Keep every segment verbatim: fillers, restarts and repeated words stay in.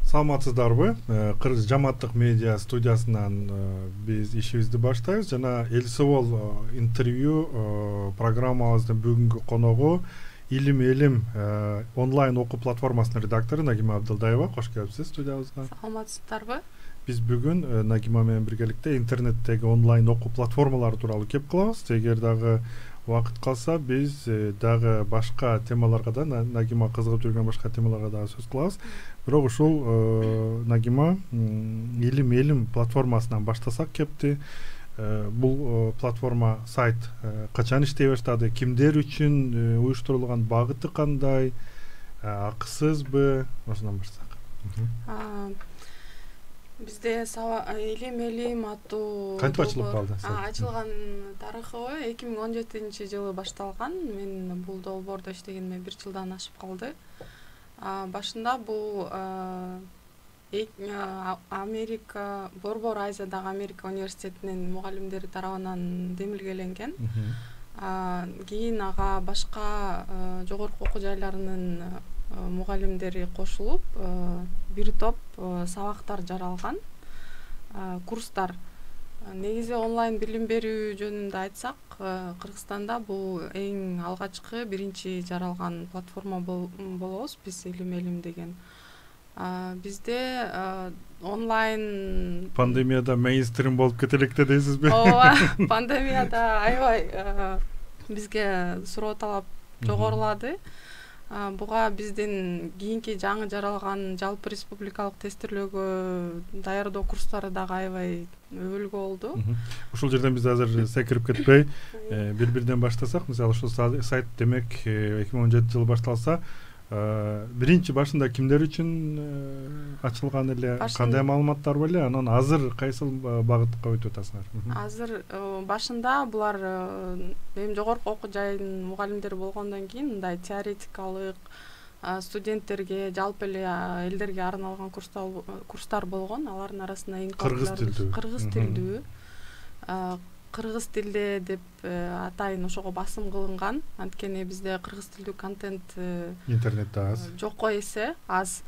Саламатсыздарбы? Кыргыз жамааттык медиа студиясынан биз ишибизди баштайбыз жана Элсовол интервью программабыздын бүгүнкү коногу Илим Элим онлайн окуу платформасынын редактору Нагима Абдылдаева. Кош келипсиз студиябызга. Саламатсыздарбы? Биз бүгүн Нагима менен биргеликте интернеттеги онлайн окуу платформалары тууралуу кеп кылабыз. Эгер дагы убакыт калса, биз дагы башка темаларга да, Нагима кызыгып жүргөн башка темаларга дагы сөз кылабыз. Бирок ушул Нагима Илим Элим платформасынан баштасак кепти. Бул платформа сайт качан иштей баштады, кимдер үчүн уюштурулган, багыты кандай, акысызбы, ошондон баштасак. Бизде Илим Элим аттуу кантип ачылып калды? Ачылган тарыхы эки миң он жетинчи жылы башталган. Мен бул долбоордо иштегениме бир жылдан ашып калды. Башында бул Америка, Борбор Азиядагы Америка университетинин мугалимдери тарабынан демилгеленген. Кийин ага башка жогорку окуу жайларынын мугалимдери кошулуп, бир топ сабактар жаралган, курстар. Негизи онлайн билим берүү жөнүндө айтсак, Кыргызстанда бул эң алгачкы биринчи жаралган платформа болобуз биз, Илим Элим деген. Бизде онлайн пандемияда мейнстрим болуп кете электе дейсизби? Ооба, пандемияда аябай бизге суроо талап жогорулады. Буга биздин кийинки жаңы жаралган жалпы республикалык тестирлөөгө даярдоо курстары дагы аябай өбөлгө болду. Ушул жерден биз азыр секирип кетпей, бир-бирден баштасак, мисалы ушул сайт демек эки миң он жетинчи жылы башталса, биринчи башында кимдер үчүн ачылган эле, кандай маалыматтар бар эле, анан азыр кайсыл багытка өтүп атасыңар? Азыр башында булар эми жогорку окуу жайынын мугалимдери болгондон кийин мындай теоретикалык студенттерге, жалпы эле элдерге арналган курстар болгон. Алардын арасында эң кыргыз тилдүү. Кыргыз тилдүү. Кыргыз тилде деп атайын ошого басым кылынган. Анткени бизде кыргыз тилдүү контент интернетте аз. Жокко эсе аз.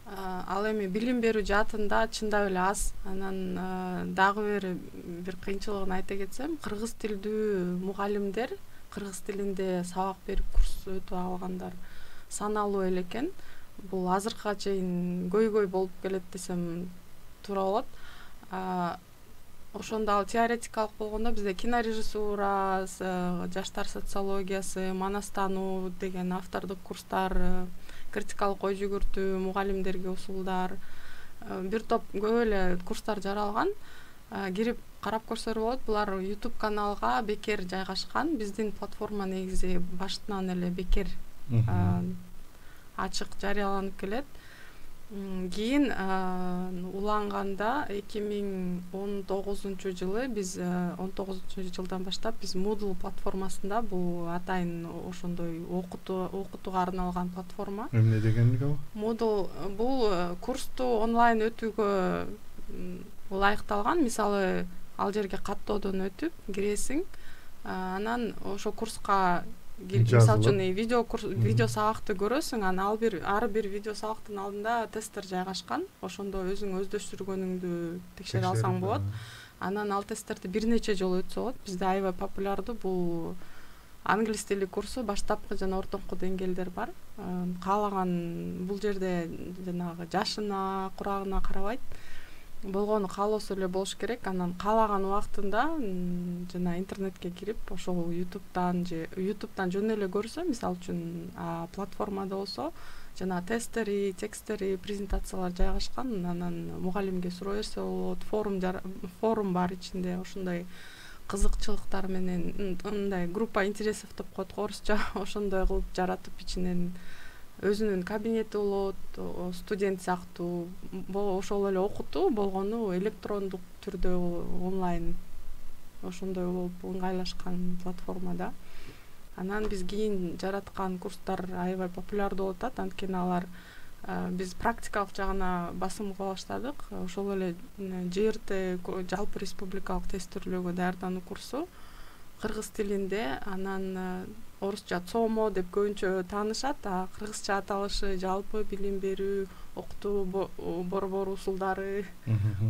Ал эми билим берүү жаатында чындап эле аз. Анан дагы бир бир кыйынчылыгын айта кетсем, кыргыз тилдүү мугалимдер, кыргыз тилинде сабак берип курс өтүп алгандар саналуу эле экен. Бул азыркыга чейин көйгөй болуп келет десем туура болот. Ошондо ал теоретикалык болгондо бизде кинорежиссура, жаштар социологиясы, манастануу деген автордук курстар, критикалык ой жүгүртүү, мугалимдерге усулдар, бир топ көп эле курстар жаралган. Кирип карап көрсөлөр болот. Булар YouTube каналга бекер жайгашкан. Биздин платформа негизи баштынан эле бекер ачык жарыяланып келет. Кийин уланганда эки миң он тогузунчу жылы биз он тогузунчу жылдан баштап биз Moodle платформасында, бул атайын ошондой окутуу окутууга арналган платформа. Эмне дегенди ал? Moodle бул курсту онлайн өтүүгө ылайыкталган. Мисалы, ал жерге каттоодон өтүп киресиң, анан ошо курска мисалы үчүн видео видео сабакты көрөсүң, анан ал бир ар бир видео сабактын алдында тесттер жайгашкан. Ошондо өзүң өздөштүргөнүңдү текшере алсаң болот. Анан ал тесттерди бир нече жолу өтсө болот. Бизде аябай популярдуу бул англис тили курсу, баштапкы жана ортоңку деңгээлдер бар. Каалаган бул жерде жанагы жашына, курагына карабайт. Болгону каалоосу эле болуш керек. Анан каалаган убактында жана интернетке кирип, ошол YouTube'дан же YouTube'дан жөн эле көрсө, мисалы үчүн платформада болсо, жана тесттери, тексттери, презентациялар жайгашкан. Анан мугалимге суроо берсе болот. Форум форум бар ичинде, ошондой кызыкчылыктар менен мындай группа интересов деп коет орусча, ошондой кылып жаратып ичинен өзүнүн кабинети болот, студент сыяктуу, ошол эле окутуу болгону электрондук түрдө онлайн ошондой болуп ыңгайлашкан платформада. Анан биз кийин жараткан курстар аябай популярдуу болуп атат, анткени алар биз практикалык жагына басым кыла баштадык. Ошол эле жэ эр тэ жалпы республикалык тестирлөөгө даярдануу курсу кыргыз тилинде, анан орусча цомо деп көбүнчө таанышат, а кыргызча аталышы жалпы билим берүү, окутуу борбору усулдары,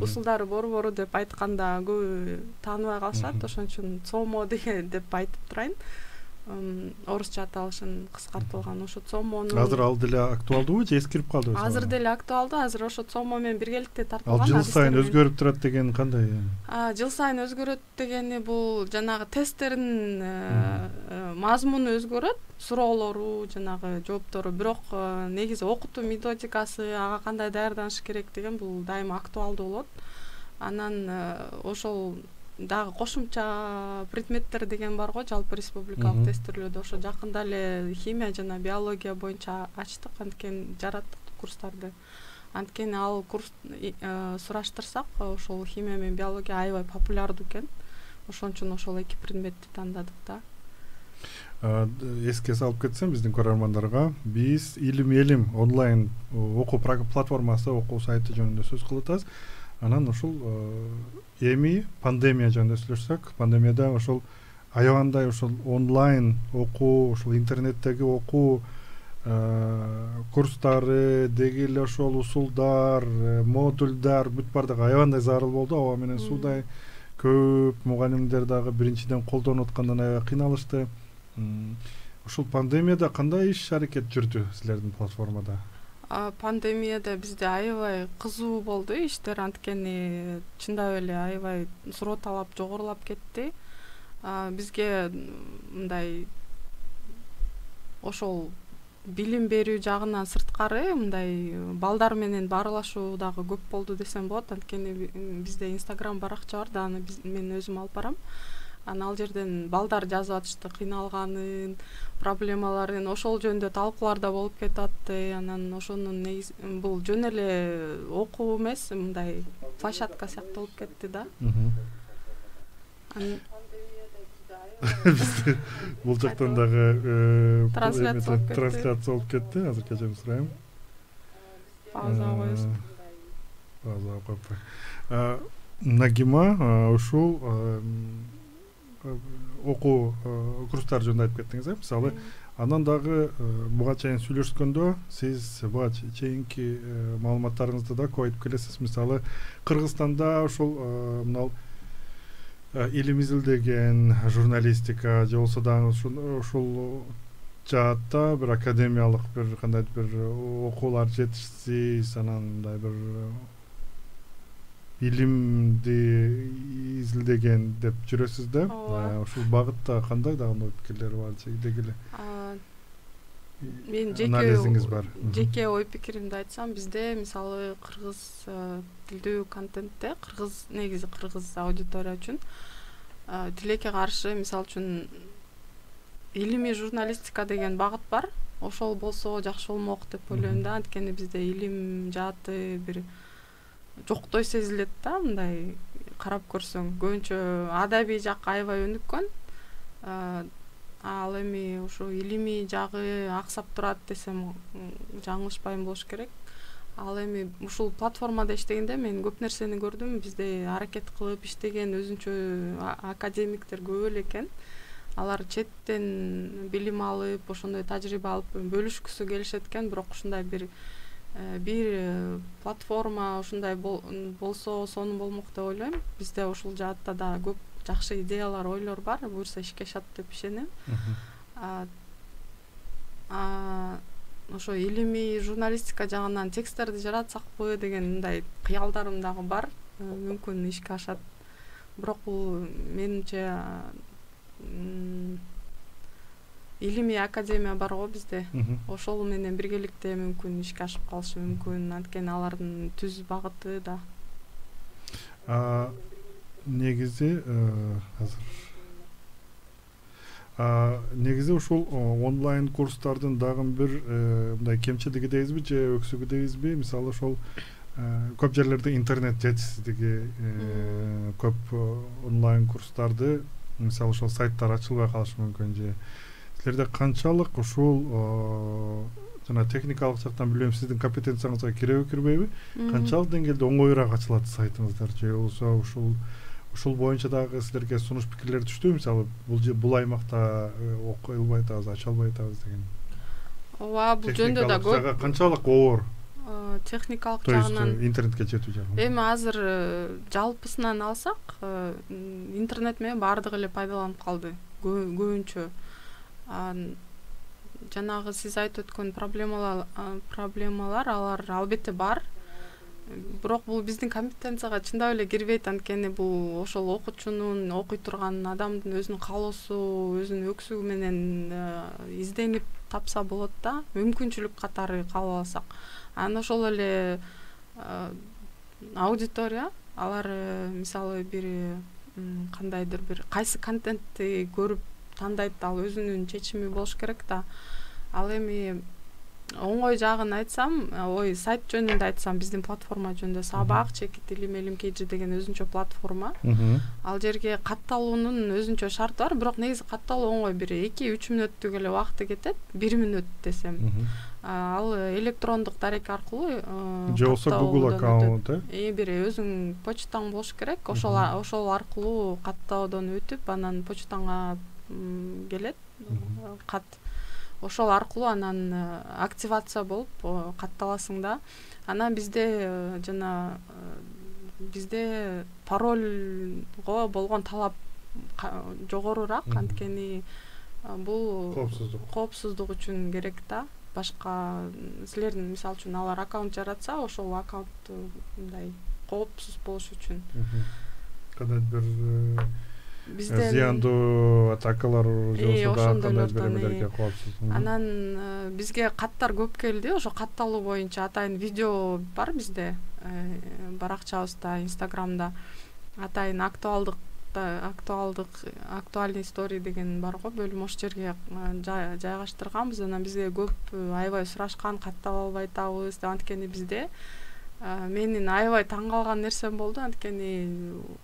усулдары борбору деп айтканда көбү тааныбай калышат. Ошон үчүн цомо деген деп айтып турайын. Орусча аталышын кыскартылган ошо цомону. Азыр ал деле актуалдуубу же эскирип калдыбы? Азыр деле актуалдуу. Азыр ошо цомо менен биргеликте тартылган. Ал жыл сайын өзгөрүп турат деген кандай? А, жыл сайын өзгөрөт дегени бул жанагы тесттердин мазмуну өзгөрөт, суроолору, жанагы жооптору, бирок негизи окутуу методикасы, ага кандай даярданыш керек деген бул дайыма актуалдуу болот. Анан ошол дагы кошумча предметтер деген бар го жалпы республикалык тестирлөөдө. Ошо жакында эле химия жана биология боюнча ачтык, анткени жараттык курстарды. Анткени ал курс сураштырсак, ошол химия менен биология аябай популярдуу экен. Ошон үчүн ошол эки предметти тандадык да. Эске салып кетсем биздин көрөрмандарга, биз Илим Элим онлайн окуу платформасы, окуу сайты жөнүндө сөз кылып атабыз. Анан ушул эми пандемия жөнүндө сүйлөшсөк, пандемияда ошол аябандай ошол онлайн окуу, ошол интернеттеги окуу курстары, деги эле ошол усулдар, модулдар бүт бардыгы аябандай зарыл болду. Аба менен суудай көп мугалимдер дагы биринчиден колдонуп аткандан аябай кыйналышты. Ушул пандемияда кандай иш аракет жүрдү силердин платформада? Пандемияда бизде аябай кызуу болду иштер, анткени чындап эле аябай суроо талап жогорулап кетти. Бизге мындай ошол билим берүү жагынан сырткары мындай балдар менен баарлашуу дагы көп болду десем болот. Анткени бизде Instagram баракча бар да, аны мен өзүм алып барам. Анан ал жерден балдар жазып атышты кыйналганын, проблемаларын, ошол жөнүндө талкуулар да болуп кетат. Анан ошонун негизи бул жөн эле окуу эмес, мындай площадка сыяктуу болуп кетти да. Бул жактан дагы трансляция болуп кетти. Азыр кечирим сурайм. Паузага коебуз. Паузага коюп. Нагима ушул окуу курстар жөнүндө айтып кеттиңиз, э? Мисалы, анан дагы буга чейин сүйлөшкөндө сиз буга чейинки маалыматтарыңызды да көп айтып келесиз. Мисалы, Кыргызстанда ошол мынал илим изилдеген журналистика же болсо дагы ушул жаатта бир академиялык бир кандайдыр бир окуулар жетишсиз, анан мындай бир илимди изилдеген деп жүрөсүз да. Ушул багытта кандай дагы ой пикирлер бар, деги эле мен анализиңиз бар? Жеке ой пикиримди айтсам, бизде мисалы кыргыз тилдүү контентте, кыргыз негизи кыргыз аудитория үчүн тилекке каршы, мисалы үчүн илимий журналистика деген багыт бар. Ошол болсо жакшы болмок деп ойлойм да. Анткени бизде илим жааты бир жоктой сезилет да, мындай карап көрсөң. Көбүнчө адабий жак аябай өнүккөн. Ал эми ушу илимий жагы аксап турат десем жаңылышпайм болуш керек. Ал эми ушул платформада иштегенде мен көп нерсени көрдүм. Бизде аракет кылып иштеген өзүнчө академиктер көп эле экен. Алар четтен билим алып, ошондой тажрыйба алып бөлүшкүсү келишет экен, бирок ушундай бир бир платформа ушундай болсо сонун болмок деп ойлойм. Бизде ушул жаатта да көп жакшы идеялар, ойлор бар, буюрса ишке ашат деп ишенем. Ошо илимий журналистика жагынан тексттерди жаратсакпы деген мындай кыялдарым дагы бар. Мүмкүн ишке ашат. Бирок бул менимче илимий академия бар го бизде. Ошол менен биргеликте мүмкүн ишке ашып калышы мүмкүн. Анткени алардын түз багыты да. Негизи азыр негизи ушул онлайн курстардын дагы бир мындай кемчилиги дейбизби же өксүгү дейбизби? Мисалы ошол көп жерлерде интернет жетишсиздиги, көп онлайн курстарды мисалы ошол сайттар ачылбай калышы мүмкүн же силерде канчалык ушул жана техникалык жактан билбейм сиздин компетенцияңызга киреби кирбейби, канчалык деңгээлде оңоюраак ачылат сайтыңыздар же болбосо ушул ушул боюнча дагы силерге сунуш пикирлер түштүбү, мисалы бул бул аймакта окуй албай атабыз, ача албай атабыз деген. Ооба, бул жөнүндө да көп. Канчалык оор техникалык жагынан интернетке жетүү жагынан. Эми азыр жалпысынан алсак, интернет менен баардыгы эле пайдаланып калды, көбүнчө. Жанагы сиз айтып өткөн проблемалар проблемалар алар албетте бар. Бирок бул биздин компетенцияга чындап эле кирбейт, анткени бул ошол окуучунун, окуй турган адамдын өзүнүн каалоосу, өзүнүн өксүгү менен изденип тапса болот да, мүмкүнчүлүк катары кааласак. Анан ошол эле аудитория, алар мисалы бир кандайдыр бир кайсы контентти көрүп тандайт, ал өзүнүн чечими болуш керек да. Ал эми оңой жагын айтсам, ой, сайт жөнүндө айтсам, биздин платформа жөнүндө Сабак, Чекит илим Элим Kg деген өзүнчө платформа. Ал жерге катталуунун өзүнчө шарты бар, бирок негизи катталуу оңой, бир эки үч мүнөттүк эле убакыты кетет, бир мүнөт десем. Ал электрондук дарек аркылуу же болсо Google аккаунт, э бир өзүң почтаң болуш керек, ошол ошол аркылуу каттоодон өтүп, анан почтаңа келет кат. Ошол аркылуу анан активация болуп катталасың да. Анан бизде жана бизде парольго болгон талап жогорураак, анткени бул коопсуздук коопсуздук үчүн керек да. Башка силердин мисалы үчүн алар аккаунт жаратса, ошол аккаунт мындай коопсуз болуш үчүн. Кандайдыр бир бизден зыяндуу атакалар же болсо кандайдыр эмелерге коопсуз. Анан бизге каттар көп келди, ошо катталуу боюнча атайын видео бар бизде, баракчабызда, Инстаграмда атайын актуалдык актуалдык актуальный история деген бар го, бөлүм, ошол жерге жайгаштырганбыз. Анан бизге көп аябай сурашкан, каттап албай атабыз деп, анткени бизде менин аябай таң калган нерсем болду, анткени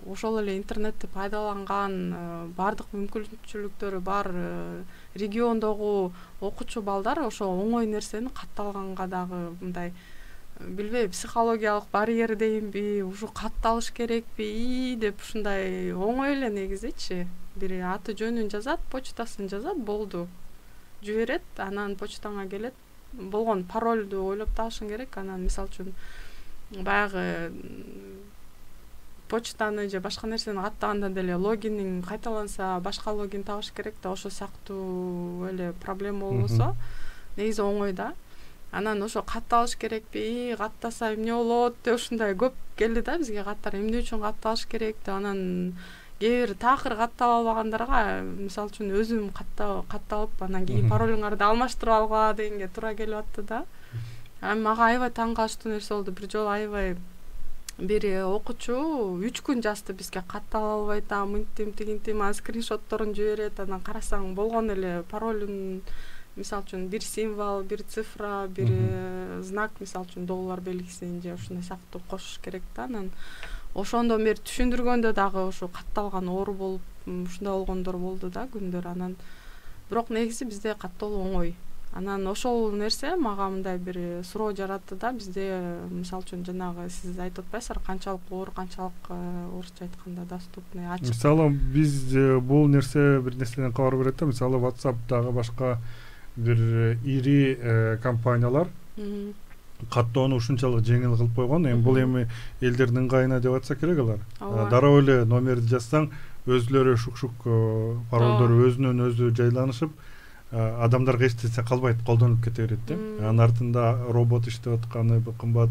ошол эле интернетти пайдаланган баардык мүмкүнчүлүктөрү бар региондогу окуучу балдар ошо оңой нерсени катталганга дагы мындай билбейм, психологиялык барьер дейинби, ушу катталыш керекпи деп ушундай оңой эле негизичи. Бир аты жөнүн жазат, почтасын жазат, болду. Жиберет, анан почтаңа келет. Болгон паролду ойлоп табышың керек. Анан мисалы үчүн баягы почтаны же башка нерсени каттаганда деле логиниң кайталанса, башка логин табыш керек да, ошол сыяктуу эле проблема болбосо негизи оңой да. Анан ошо катталыш керекпи, каттаса эмне болот деп ушундай көп келди да бизге каттар, эмне үчүн катталыш керек деп. Анан кээ бир такыр каттап албагандарга мисалы үчүн өзүм катталып, анан кийин паролуңарды алмаштырып алгыла дегенге туура келип атты да. Анан мага аябай таң калыштуу нерсе болду. Бир жолу аябай бир окуучу үч күн жазды бизге, каттала албай атам, мынтим тигинтим, анан скриншотторун жиберет. Анан карасаң болгон эле паролун, мисалы үчүн бир символ, бир цифра, бир знак, мисалы үчүн доллар белгисин же ушундай сыяктуу кошуш керек да. Анан ошондон бери түшүндүргөндө дагы ошо катталган оор болуп, ушундай болгондор болду да күндөр. Анан бирок негизи бизде катталуу оңой. Анан ошол нерсе мага мындай бир суроо жаратты да. Бизде мисалы үчүн жанагы сиз айтып атпайсыздар, канчалык оор, канчалык орусча айтканда доступный, ачык. Мисалы биз бул нерсе бир нерседен кабар берет да. Мисалы WhatsApp'дагы башка бир ири компаниялар каттоону ушунчалык жеңил кылып койгон. Эми бул эми элдердин ыңгайына деп атса керек алар. Дароо эле номерди жазсаң, өзүлөрү шук-шук паролдору өзүнөн өзү жайланышып, адамдарга эч нерсе калбайт, колдонуп кете берет да. Анын артында робот иштеп атканы, кымбат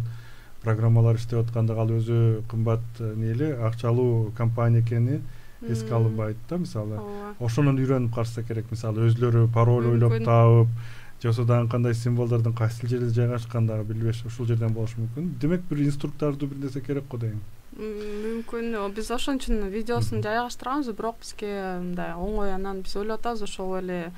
программалар иштеп атканда ал өзү кымбат нели акчалуу компания экени эске алынбайт да. Мисалы ошонун үйрөнүп калса керек. Мисалы өзүлөрү пароль ойлоп таап, же болсо дагы кандай символдордун кайсы жерде жайгашкандыгы билбеш, ушул жерден болушу мүмкүн. Демек бир инструктаждуу бир нерсе керек го дейм. Мүмкүн. Биз ошон үчүн видеосун жайгаштырганбыз, бирок бизге мындай оңой. Анан биз ойлоп атабыз, ошол эле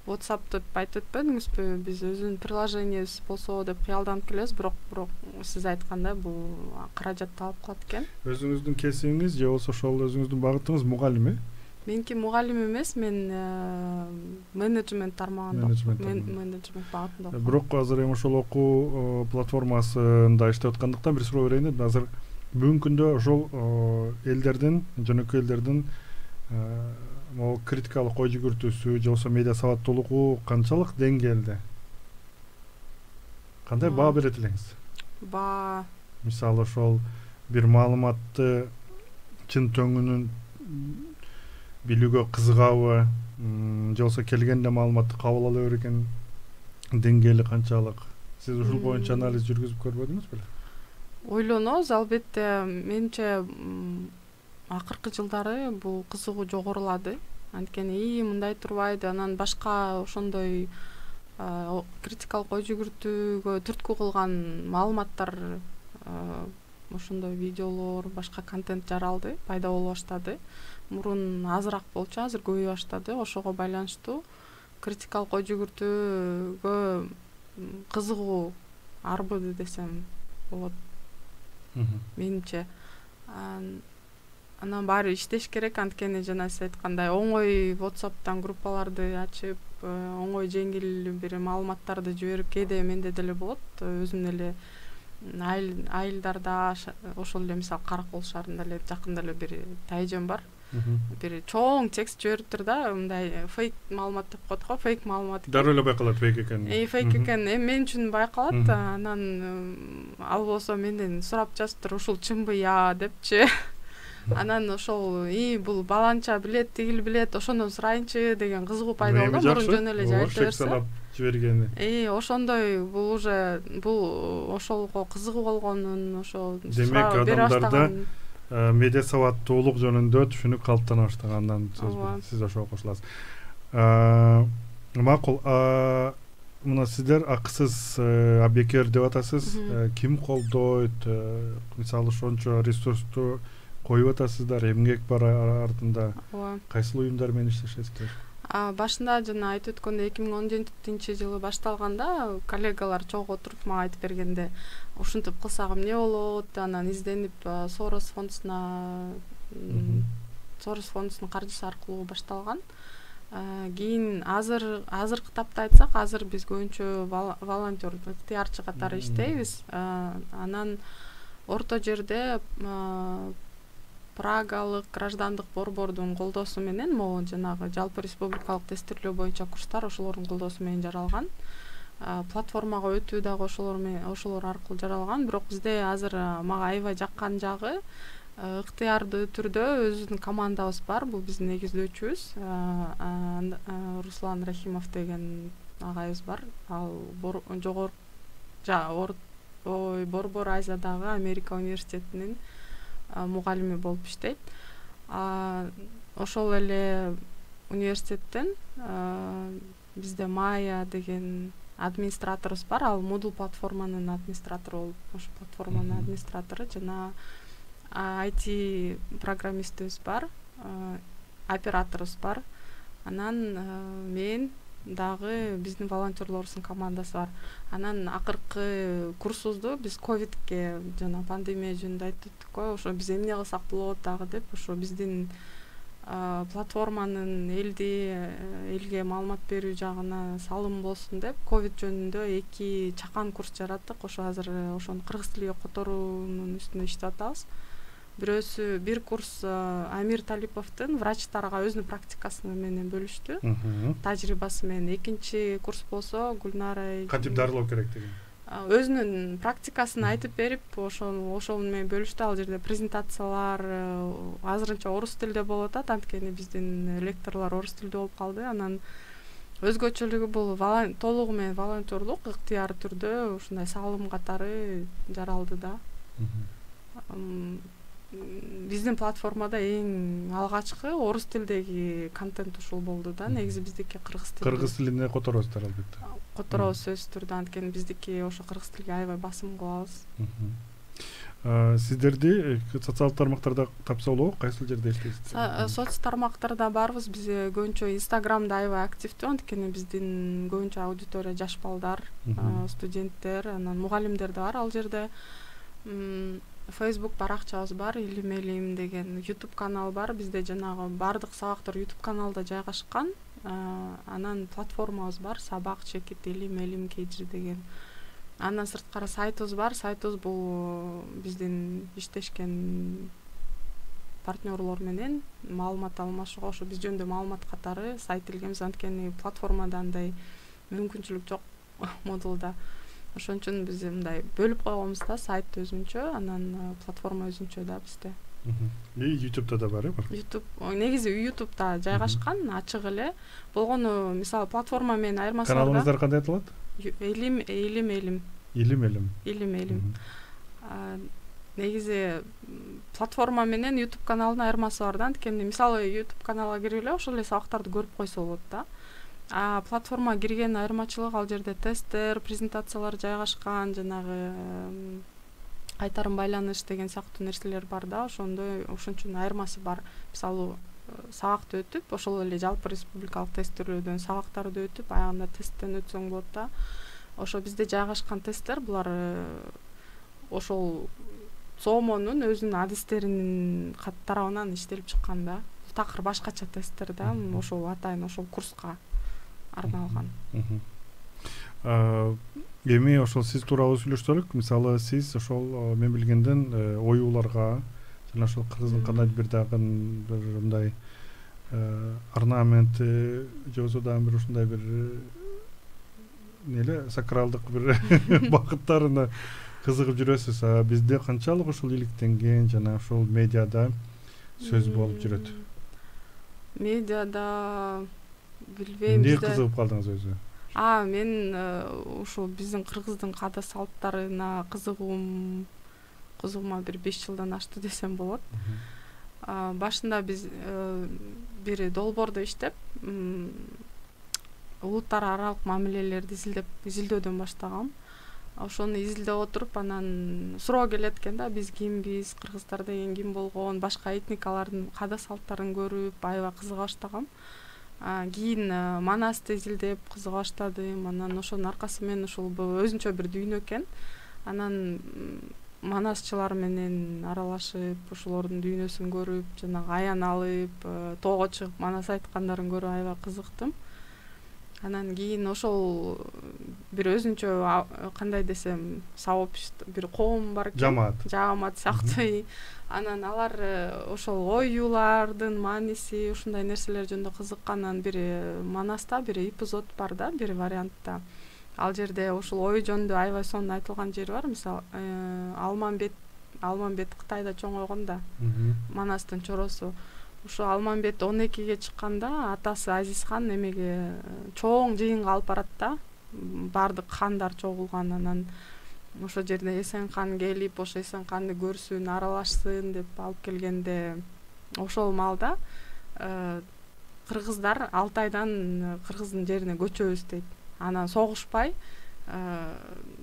WhatsApp деп айтып өтпөдүңүзбү? Биз өзүнүн приложениябыз болсо деп кыялданып келебиз, бирок бирок сиз айткандай бул каражат талап кылат экен. Өзүңүздүн кесибиңиз же болсо ошол өзүңүздүн багытыңыз мугалим, э? Меники мугалим эмес, мен менеджмент тармагында менеджмент багытында окуйм. Бирок азыр эми ошол окуу платформасында иштеп аткандыктан бир суроо берейин дедим. Азыр бүгүнкү күндө ошол элдердин, жөнөкөй элдердин могу критикалык ой жүгүртүүсү же болбосо медиа сабаттуулугу канчалык деңгээлде? Кандай баа берет элеңиз? Баа мисалы ошол бир маалыматты чын төңүнүн билүүгө кызыгабы, же болбосо келгенде маалыматты кабыл ала берген деңгээли канчалык? Сиз ушул боюнча анализ жүргүзүп көрбөдүңүз беле? Ойлонобуз, албетте. Менимче акыркы жылдары бул кызыгуу жогорулады. Анткени ии мындай турбайды, анан башка ошондой критикалык ой жүгүртүүгө түрткү кылган маалыматтар, ошондой видеолор, башка контент жаралды, пайда боло баштады. Мурун азыраак болчу, азыр көбөйө баштады. Ошого байланыштуу критикалык ой жүгүртүүгө кызыгуу арбыды десем болот. Менимче анан баары иштеш керек, анткени жана сиз айткандай оңой WhatsApp'тан группаларды ачып, оңой жеңил бир маалыматтарды жиберип, кээде менде деле болот, өзүм эле айылдарда ошол эле мисалы Каракол шаарында эле жакында эле бир тайжем бар. Бир чоң текст жибериптир да, мындай фейк маалымат деп коет го, фейк маалымат. Дароо эле байкалат фейк экени. Э, фейк экен. Эми мен үчүн байкалат. Анан ал болсо менден сурап жазыптыр, ушул чынбы я депчи. Анан ошол и бул баланча билет, тигил билет, ошондон сурайынчы деген кызыгуу пайда болду. Мурун жөн эле жайып берсе. Жибергени. Э, ошондой бул уже бул ошолго кызыгуу болгонун, ошол демек адамдарда медиа сабаттуулук жөнүндө түшүнүк калыптана баштагандан сиз ошого кошуласыз. Макул. Мына сиздер акысыз абекер деп атасыз. Ким колдойт? Мисалы ошончо ресурсту коюп атасыздар, эмгек бар артында. Кайсыл уюмдар менен иштешесиздер? Башында жана айтып өткөндөй эки миң он жетинчи жылы башталганда коллегалар чогуу отуруп мага айтып бергенде, ушинтип кылсак эмне болот, анан изденип Сорос фондусуна Сорос фондусунун каржысы аркылуу башталган. Кийин азыр азыркы тапта айтсак, азыр биз көбүнчө волонтер, ыктыярчы катары иштейбиз. Анан орто жерде Прагалык граждандык борбордун колдоосу менен могу жанагы жалпы республикалык тестирлөө боюнча курстар ошолордун колдоосу менен жаралган. Платформага өтүү дагы ошолор менен ошолор аркылуу жаралган. Бирок бизде азыр мага аябай жаккан жагы ыктыярдуу түрдө өзүбүздүн командабыз бар. Бул биздин негиздөөчүбүз Руслан Рахимов деген агайыбыз бар. Ал жогорку ой Борбор Азиядагы Америка университетинин мугалими болуп иштейт. Ошол эле университеттен бизде Майя деген администраторубуз бар. Ал Moodle платформанын администратору болуп, ошо платформанын администратору, жана ай ти программистибиз бар, операторубуз бар. Анан мен дагы биздин волонтерлорубуздун командасы бар. Анан акыркы курсубузду биз ковидке жана пандемия жөнүндө айттык го, ошо биз эмне кылсак болот дагы деп, ошо биздин платформанын элди элге маалымат берүү жагына салым болсун деп ковид жөнүндө эки чакан курс жараттык. Ошо азыр ошону кыргыз тилиге которуунун үстүндө иштеп атабыз. Бирөөсү бир курс Амир Талиповдун врачтарга өзүнүн практикасы менен бөлүштү, тажрыйбасы менен. Экинчи курс болсо Гүлнара кантип дарылоо керек деген өзүнүн практикасын айтып берип, ошол ошол менен бөлүштү. Ал жерде презентациялар азырынча орус тилде болуп атат, анткени биздин лекторлор орус тилде болуп калды. Анан өзгөчөлүгү бул толугу менен волонтерлук, ыктыяр түрдө ушундай салым катары жаралды да. Биздин платформада эң алгачкы орус тилдеги контент ушул болду да. Негизи биздики кыргыз тилде. Кыргыз тилине которосуздар албетте. Которобуз сөзсүз түрдө, анткени биздики ошо кыргыз тилге аябай басым кылабыз. Сиздерди социалдык тармактарда тапса болобу? Кайсыл жерде иштейсиздер? Соц тармактарда барбыз. Биз көбүнчө Инстаграмда аябай активдүү, анткени биздин көбүнчө аудитория жаш балдар, студенттер, анан мугалимдер да бар ал жерде. Facebook баракчабыз бар, Илим Элим деген YouTube канал бар. Бизде жанагы бардык сабактар YouTube каналда жайгашкан. Анан платформабыз бар, Сабак чекит Илим Элим Кежи деген. Андан сырткары сайтыбыз бар. Сайтыбыз бул биздин иштешкен партнерлор менен маалымат алмашууга, ошо биз жөнүндө маалымат катары сайт илгенбиз. Анткени платформада андай мүмкүнчүлүк жок модулда. Ошон үчүн биз мындай бөлүп койгонбуз да, сайт өзүнчө, анан платформа өзүнчө да бизде. И YouTube'да да бар, э? YouTube негизи YouTube'да жайгашкан, ачык эле. Болгону мисалы платформа менен айырмасы бар. Каналыңыздар кандай аталат? Илим Илим Элим. Илим Элим. Илим Элим. Негизи платформа менен YouTube каналдын айырмасы бар да. Анткени мисалы YouTube каналга кирип эле ошол эле сабактарды көрүп койсо болот да. А платформага кирген айырмачылыгы ал жерде тесттер, презентациялар жайгашкан, жанагы кайтарым байланыш деген сыяктуу нерселер бар да. Ошондой ошон үчүн айырмасы бар. Мисалы сабакты өтүп, ошол эле жалпы республикалык тесттөөлөрдөн сабактарды өтүп, аягында тесттен өтсөң болот да. Ошо бизде жайгашкан тесттер булар ошол сомонун өзүнүн адистеринин тарабынан иштелип чыккан да. Такыр башкача тесттер да. Ошол атайын ошол курска арналган. Эми ошол сиз тууралуу сүйлөштүк. Мисалы сиз ошол мен билгенден оюуларга жана ошол кыргыздын кандайдыр бир дагы бир мындай орнамент же болбосо дагы бир ушундай бир неле сакралдык бир багыттарына кызыгып жүрөсүз. А бизде канчалык ошол иликтенген жана ошол медиада сөз болуп жүрөт? Медиада билбейм, бизде. Эмне кызыгып калдыңыз өзү? А, мен ушул биздин кыргыздын каада салттарына кызыгуум кызыгуума бир беш жылдан ашты десем болот. Башында биз бир долбоордо иштеп, улуттар аралык мамилелерди изилдеп, изилдөөдөн баштагам. Ошону изилдеп отуруп, анан суроо келет экен да, биз кимбиз, кыргыздар деген ким болгон, башка этникалардын каада салттарын көрүп, аябай кызыга баштагам. Кийин Манасты изилдеп кызыга баштадым. Анан ошонун аркасы менен ушул өзүнчө бир дүйнө экен. Анан манасчылар менен аралашып, ошолордун дүйнөсүн көрүп, жанагы аян алып, тоого чыгып манас айткандарын көрүп аябай кызыктым. Анан кийин ошол бир өзүнчө кандай десем, сообщество, бир коом бар экен. Жамаат. Жамаат сыяктуу. Анан алар ошол оюулардын мааниси, ушундай нерселер жөнүндө кызыккандан бир Манаста бир эпизод бар да, бир вариантта. Ал жерде ошол ою жөнүндө аябай сонун айтылган жери бар. Мисалы, Алмамбет, Алмамбет Кытайда чоңойгон да. Манастын чоросу. Ошо Алмамбет он экиге чыкканда атасы Азизхан эмеге чоң жыйынга алып барат да. Бардык хандар чогулган. Анан ошол жерде Эсен хан келип, ошо Эсен ханды көрсүн, аралашсын деп алып келгенде, ошол маалда кыргыздар Алтайдан кыргыздын жерине көчөбүз дейт. Анан согушпай,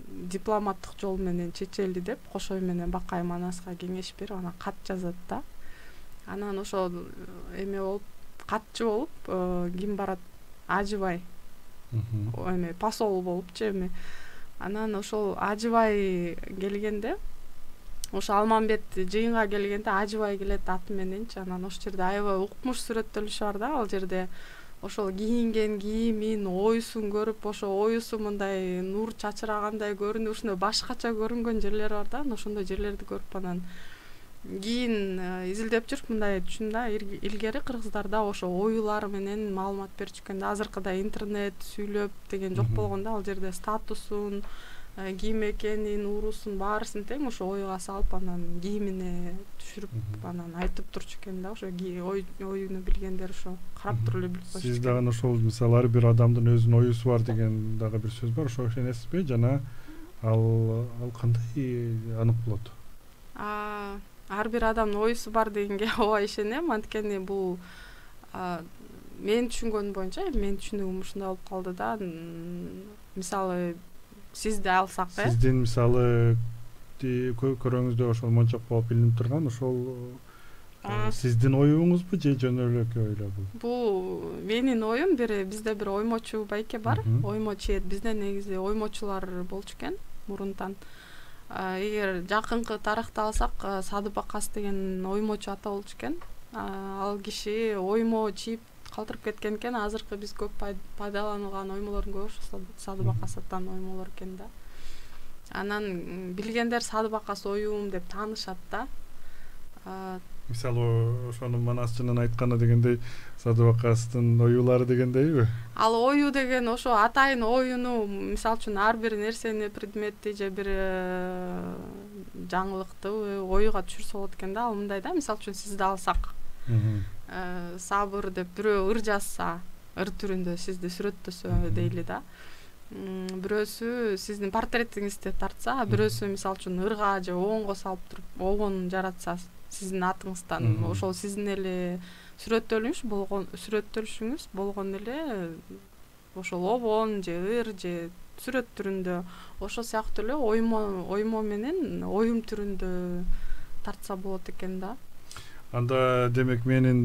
дипломаттык жол менен чечели деп Кошой менен Бакай Манаска кеңеш берип, анан кат жазат да. Анан ошол эме болуп, катчы болуп ким барат? Ажыбай. Эме посол болупчу эме. Анан ошол Ажыбай келгенде, ошо Алмамбет жыйынга келгенде Ажыбай келет аты мененчи. Анан ошол жерде аябай укмуш сүрөттөлүшү бар да. Ал жерде ошол кийинген кийимин, оюсун көрүп, ошо оюсу мындай нур чачырагандай көрүнүп, ушундай башкача көрүнгөн жерлер бар да. Ошондой жерлерди көрүп анан кийин изилдеп жүрүп мындай түшүндүм да, илгери кыргыздарда ошо оюлар менен маалымат берчү экен да. Азыркыдай интернет, сүйлөп деген жок болгон да. Ал жерде статусун, ким экенин, уруусун баарысын тең ошо оюга салып, анан кийимине түшүрүп, анан айтып турчу экен да. Ошо оюну билгендер ошо карап туруп эле билип койчу. Сиз дагы ошол мисалы ар бир адамдын өзүнүн оюсу бар деген дагы бир сөз бар. Ошого ишенесизби? Жана ал ал кандай анык болот? А ар бир адамдын оюсу бар дегенге ооба ишенем. Анткени бул мен түшүнгөнүм боюнча, менин түшүнүгүм ушундай болуп калды да. Мисалы сизди алсак, э? Сиздин мисалы көрөңүздө ошол мончок болуп билинип турган ошол сиздин оюңузбу же жөн эле ойло бул? Бул менин оюм. Бир бизде бир оймочу байке бар. Оймочу, бизде негизи оймочулар болчу экен мурунтан. эгер жакынкы тарыхты алсак, Садып Акас деген оймочу ата болчу экен. Ал киши оймо чийип калтырып кеткен экен. Азыркы биз көп пайдаланылган оймолордун көбү ошо Садып Акас атанын оймолору экен да. Анан билгендер Садып Акас оюм деп таанышат да. Мисалы ошону Манасчынын айтканы дегендей, Садып Акастын оюлары дегендейби? Ал ою деген ошо атайын оюну, мисалы үчүн ар бир нерсени, предметти же бир жаңылыкты оюга түшүрсө болот экен да. Ал мындай да, мисалы үчүн сизди алсак, Сабыр деп бирөө ыр жазса, ыр түрүндө сизди сүрөттөсө дейли да. Бирөөсү сиздин портретиңизди тартса, бирөөсү мисалы үчүн ырга же оонго салып туруп, оогон жаратса сиздин атыңыздан, ошол сиздин эле сүрөттөлүш болгон сүрөттөлүшүңүз болгон эле ошол обон же ыр же сүрөт түрүндө, ошо сыяктуу эле оймо оймо менен оюм түрүндө тартса болот экен да. Анда демек менин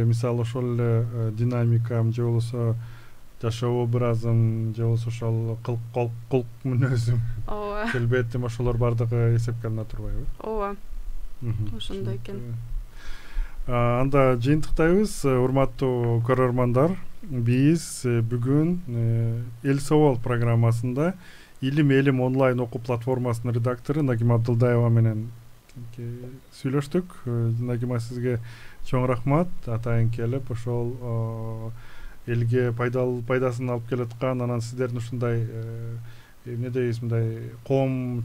мисалы ошол эле динамикам же болбосо жашоо образым же болбосо ошол кылк кулк мүнөзүм, ооба, келбетим, ошолор бардыгы эсепке алына турбайбы? Ооба. Ошондой экен. Анда жыйынтыктайбыз, урматтуу көрөрмандар. Биз бүгүн Эл Собол программасында Илим Элим онлайн окуу платформасынын редактору Нагима Абдылдаева менен сүйлөштүк. Нагима, сизге чоң рахмат. Атайын келип ошол элге пайдалуу пайдасын алып келаткан, анан сиздердин ушундай эмне дейбиз, мындай коом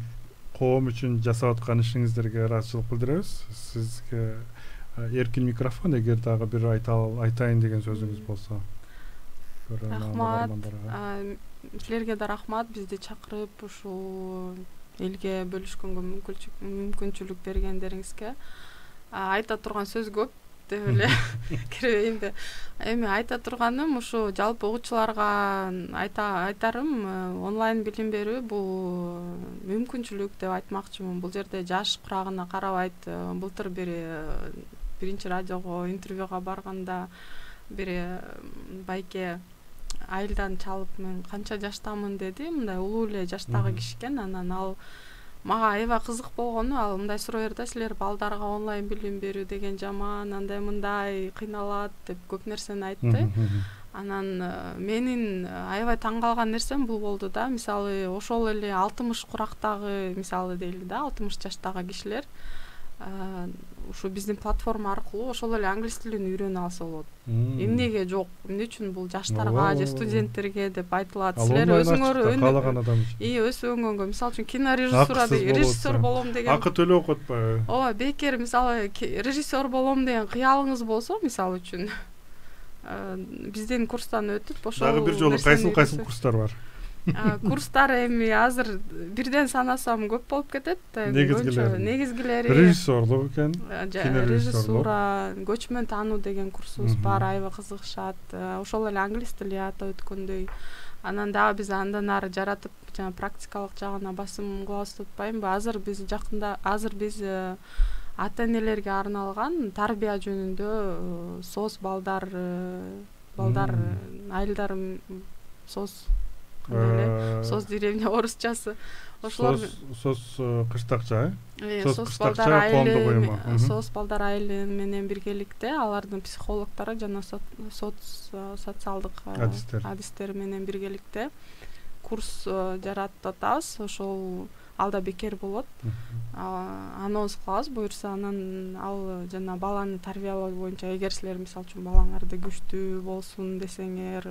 коом үчүн жасап аткан ишиңиздерге ыраазычылык билдиребиз. Сизге эркин микрофон, эгер дагы бир айтайын деген сөзүңүз болсо. Рахмат. Силерге да рахмат, бизди чакырып ушул элге бөлүшкөнгө мүмкүнчүлүк бергендериңизге. Айта турган сөз көп деп эле кирбейм да. Эми айта турганым ушу жалпы окуучуларга айта айтарым, онлайн билим берүү бул мүмкүнчүлүк деп айтмакчымын. Бул жерде жаш курагына карабайт. Былтыр бир биринчи радиого интервьюга барганда бир байке айылдан чалып, мен канча жаштамын деди. Мындай улуу эле жаштагы киши экен. Анан ал мага аябай кызык болгону, ал мындай суроо берди: силер балдарга онлайн билим берүү деген жаман, андай мындай кыйналат деп көп нерсени айтты. Анан менин аябай таң калган нерсем бул болду да. Мисалы ошол эле алтымыш курактагы, мисалы дейли да, алтымыш жаштагы кишилер ушу биздин платформа аркылуу ошол эле англис тилин үйрөнө алса болот. Эмнеге жок? Эмне үчүн бул жаштарга же студенттерге деп айтылат. Силер өзүңөр каалаган адам үчүн. И өз өңгөнгө, мисалы үчүн кинорежиссура деген, режиссер болом деген. Акы төлөп атпайбы? Ооба, бекер мисалы режиссер болом деген кыялыңыз болсо, мисалы үчүн биздин курстан өтүп ошол дагы бир жолу кайсыл кайсыл курстар бар? Курстар эми азыр бирден санасам көп болуп кетет. Негизгилери режиссерлук экен, режиссура, көчмөн таануу деген курсубуз бар, аябай кызыгышат. Ошол эле англис тили ата өткөндөй. Анан дагы биз андан ары жаратып, жана практикалык жагына басым кылабыз деп атпаймынбы? Азыр биз жакында, азыр биз ата энелерге арналган тарбия жөнүндө соц балдар балдар айылдар соц соц деревня орусчасы ошолор соц кыштакча, э соц балдар айылы соц балдар айылы менен биргеликте алардын психологдору жана соц социалдык адистер менен биргеликте курс жаратып атабыз. Ошол алда бекер болот. Анонс кылабыз буюрса. Анан ал жана баланы тарбиялоо боюнча, эгер силер мисалы үчүн балаңарды күчтүү болсун десеңер,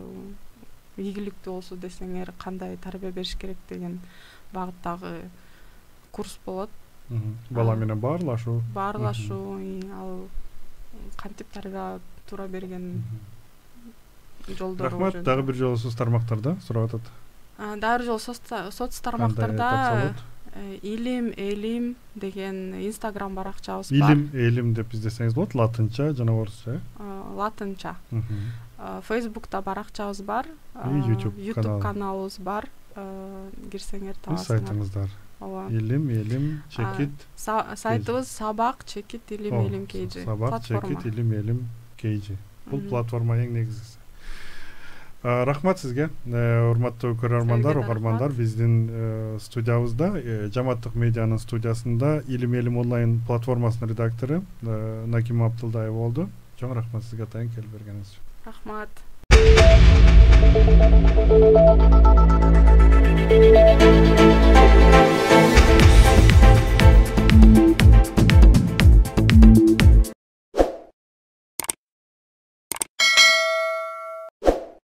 ийгиликтүү болсун десеңер, кандай тарбия бериш керек деген багыттагы курс болот. Бала менен баарлашуу. Баарлашуу, ал кантип тарбия туура берген жолдору. Рахмат. Дагы бир жолу соц тармактарда сурап атат. Дагы бир жолу соц тармактарда Илим Элим деген инстаграм баракчабыз бар. Илим Элим деп издесеңиз болот, латынча жана орусча. Латынча. Фейсбукта баракчабыз бар, YouTube каналыбыз бар. Кирсеңер табасыңар. Сайтыңыздар. Ооба. Илим Элим чекит. Сайтыбыз сабак чекит илим элим kg. Сабак чекит илим элим kg. Бул платформа эң негизгиси. Рахмат сизге, урматтуу көрөрмандар, угармандар. Биздин студиябызда, Жаматтык медианын студиясында Илим Элим онлайн платформасынын редактору Нагима Абдылдаева болду. Чоң рахмат сизге атайын келип бергениңиз үчүн. Рахмат.